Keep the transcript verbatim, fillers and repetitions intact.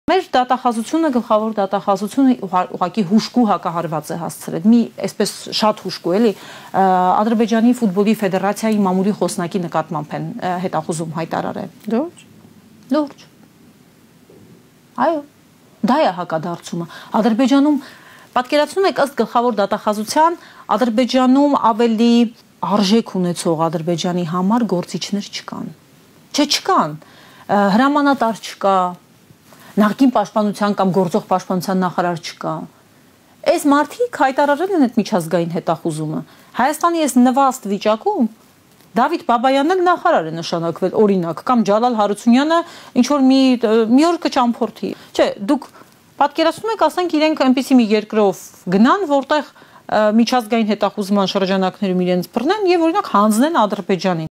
Մեր դատախազությունը, գլխավոր դատախազությունը ուղղակի հուշկու հակահարված է հասցրել, մի այսպես շատ հուշկու էլի, Ադրբեջանի ֆուտբոլի ֆեդերացիայի մամուլի խոսնակի նկատմամբ են հետախուզում հայտարարել։ Լուրջ։ Լուրջ։ Այո, դա է հակադարձումը։ Ադրբեջանում, պատկերացնում եք ըստ գլխավոր դատախազության, Ադրբեջանում ավելի արժեք ունեցող Ադրբեջանի համար գործիչներ չկան։ Չէ, չկան, հրամանատար չկա, նախկին պաշտպանության կամ գործող պաշտպանության նախարար չկա։ Այս մարդիկ հայտարարել են այդ միջազգային հետախուզումը։ Հայաստանի այս նվաստ վիճակում Դավիթ Բաբայանն էլ նախարար է նշանակվել, օրինակ, կամ Ջալալ Հարությունյանը ինչ որ մի մի օր կճամփորդի։ Չէ, դուք պատկերացնում եք, ասենք իրենք այնպիսի մի երկրով գնան, որտեղ միջազգային հետախուզման շրջանակներում իրենց բռնեն եւ օրինակ հանձնեն Ադրբեջանին։